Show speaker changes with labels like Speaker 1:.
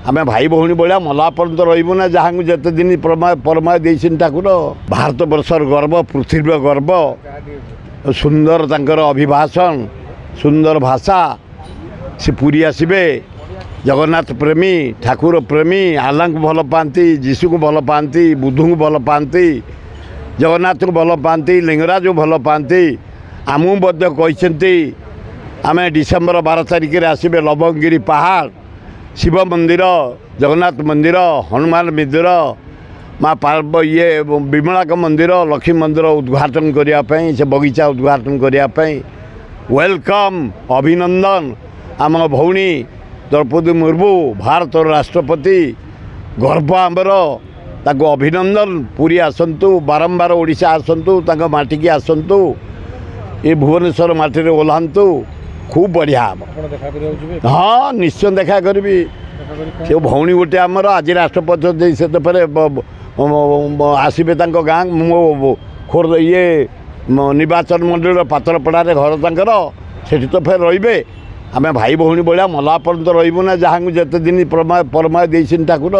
Speaker 1: ଆମେ ଭାଇ ଭଉଣୀ ଭଳିଆ ମଲା ପର୍ଯ୍ୟନ୍ତ ରହିବୁ ନା, ଯାହାଙ୍କୁ ଯେତେ ଦିନ ପରମା ଦେଇଛନ୍ତି ଠାକୁର। ଭାରତବର୍ଷର ଗର୍ବ, ପୃଥିବୀର ଗର୍ବ। ସୁନ୍ଦର ତାଙ୍କର ଅଭିଭାଷଣ, ସୁନ୍ଦର ଭାଷା। ସେ ପୁରୀ ଆସିବେ। ଜଗନ୍ନାଥ ପ୍ରେମୀ, ଠାକୁର ପ୍ରେମୀ, ଆଲ୍ଲାଙ୍କୁ ଭଲ ପାଆନ୍ତି, ଯୀଶୁକୁ ଭଲ ପାଆନ୍ତି, ବୁଦ୍ଧଙ୍କୁ ଭଲ ପାଆନ୍ତି, ଜଗନ୍ନାଥଙ୍କୁ ଭଲ ପାଆନ୍ତି, ଲିଙ୍ଗରାଜକୁ ଭଲ ପାଆନ୍ତି। ଆମକୁ ମଧ୍ୟ କହିଛନ୍ତି ଆମେ ଡିସେମ୍ବର 12 ତାରିଖରେ ଆସିବେ। ଲବଙ୍ଗଗିରି ପାହାଡ଼, ଶିବ ମନ୍ଦିର, ଜଗନ୍ନାଥ ମନ୍ଦିର, ହନୁମାନ ମନ୍ଦିର, ମା ପାର୍ବ ଇଏ ବିମଳାଙ୍କ ମନ୍ଦିର, ଲକ୍ଷ୍ମୀ ମନ୍ଦିର ଉଦ୍ଘାଟନ କରିବା ପାଇଁ, ସେ ବଗିଚା ଉଦ୍ଘାଟନ କରିବା ପାଇଁ। Welcome, ଅଭିନନ୍ଦନ ଆମ ଭଉଣୀ ଦ୍ରୌପଦୀ ମୁର୍ମୁ, ଭାରତର ରାଷ୍ଟ୍ରପତି, ଗର୍ବ ଆମର। ତାକୁ ଅଭିନନ୍ଦନ। ପୁରୀ ଆସନ୍ତୁ, ବାରମ୍ବାର ଓଡ଼ିଶା ଆସନ୍ତୁ, ତାଙ୍କ ମାଟିକି ଆସନ୍ତୁ, ଏ ଭୁବନେଶ୍ୱର ମାଟିରେ ଓହ୍ଲାନ୍ତୁ, ଖୁବ୍ ବଢ଼ିଆ ହେବ। ହଁ, ନିଶ୍ଚୟ ଦେଖା କରିବି। ସେ ଭଉଣୀ ଗୋଟେ ଆମର। ଆଜି ରାଷ୍ଟ୍ରପତି, ସେ ତ ଫେରେ ଆସିବେ ତାଙ୍କ ଗାଁ, ମୋ ଖୋର୍ଦ୍ଧା ଇଏ ନିର୍ବାଚନ ମଣ୍ଡଳୀର ପାତ୍ରପଡ଼ାରେ ଘର ତାଙ୍କର, ସେଠି ତ ଫେର ରହିବେ। ଆମେ ଭାଇ ଭଉଣୀ ଭଳିଆ ମଲା ପର୍ଯ୍ୟନ୍ତ ରହିବୁ ନା, ଯାହାଙ୍କୁ ଯେତେ ଦିନ ପରମା ଦେଇଛନ୍ତି ଠାକୁର।